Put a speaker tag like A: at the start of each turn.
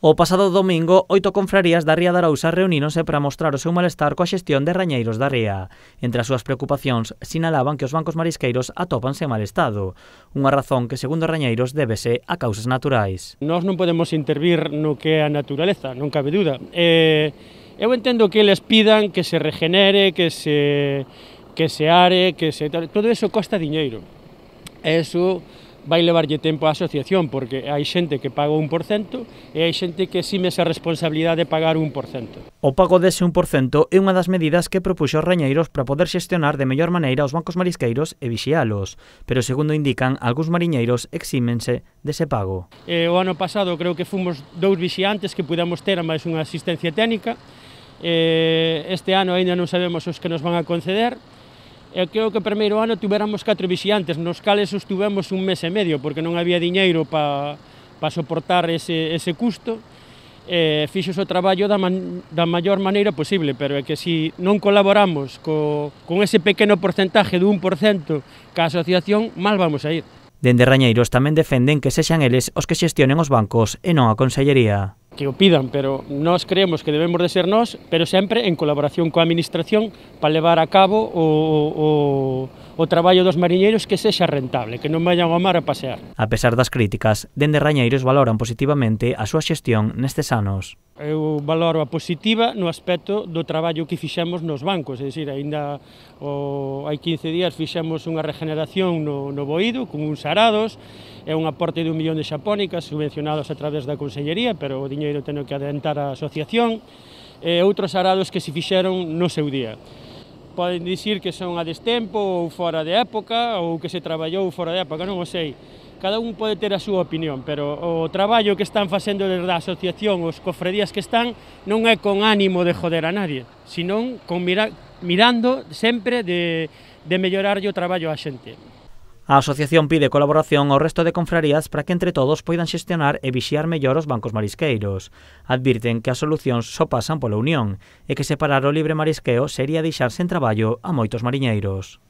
A: O pasado domingo, 8 confrarías da Ría de Arousa reuníronse para mostrar o seu malestar coa xestión de rañeiros da ría. Entre as súas preocupacións, sinalaban que os bancos marisqueiros atópanse en mal estado, unha razón que, segundo rañeiros, débese a causas naturais.
B: Nós non podemos intervir no que é a naturaleza, non cabe duda. Eu entendo que eles pidan que se regenere, que se are, todo eso costa diñeiro. Eso vai levarlle tempo á asociación, porque hai xente que paga 1% e hai xente que exime esa responsabilidade de pagar 1%.
A: O pago dese 1% é unha das medidas que propuxo os rañeiros para poder xestionar de mellor maneira os bancos marisqueiros e vixialos, pero segundo indican, algúns mariñeiros exímense dese pago.
B: O ano pasado creo que fomos 2 vixiantes que pudemos ter a máis unha asistencia técnica. Este ano ainda non sabemos os que nos van a conceder. Creo que o primeiro ano tuveramos 4 vixiantes, nos cales estuvemos 1 mes e medio, porque non había diñeiro para soportar ese custo. Fixos o traballo da maior maneira posible, pero é que se non colaboramos con ese pequeno porcentaje do 1% ca asociación, mal vamos a ir.
A: Dende rañeiros tamén defenden que sexan eles os que xestionen os bancos e non a Consellería.
B: Que o pidan, pero nós creemos que debemos de ser nós, pero sempre en colaboración coa Administración para levar a cabo o traballo dos mariñeiros que sexa rentable, que non vayan ao mar a pasear.
A: A pesar das críticas, dende rañeiros valoran positivamente a súa xestión nestes anos.
B: Eu valoro a positiva no aspecto do traballo que fixemos nos bancos, é dicir, aínda hai 15 días fixemos unha regeneración no Boído, con uns arados, é un aporte de 1 millón de xapónicas subvencionados a través da Consellería, pero o diñeiro ten que adentar a asociación, e outros arados que se fixeron no seu día. Poden dicir que son a destempo ou fora de época, ou que se traballou fora de época, non o sei. Cada un pode ter a súa opinión, pero o traballo que están facendo desde a asociación, os cofradías que están, non é con ánimo de joder a nadie, senón con mirando sempre de mellorarlle o traballo á xente.
A: A asociación pide colaboración ao resto de confrarías para que entre todos poidan xestionar e vixiar mellor os bancos marisqueiros. Advirten que as solucións só pasan pola unión e que separar o libre marisqueo sería deixar sen traballo a moitos mariñeiros.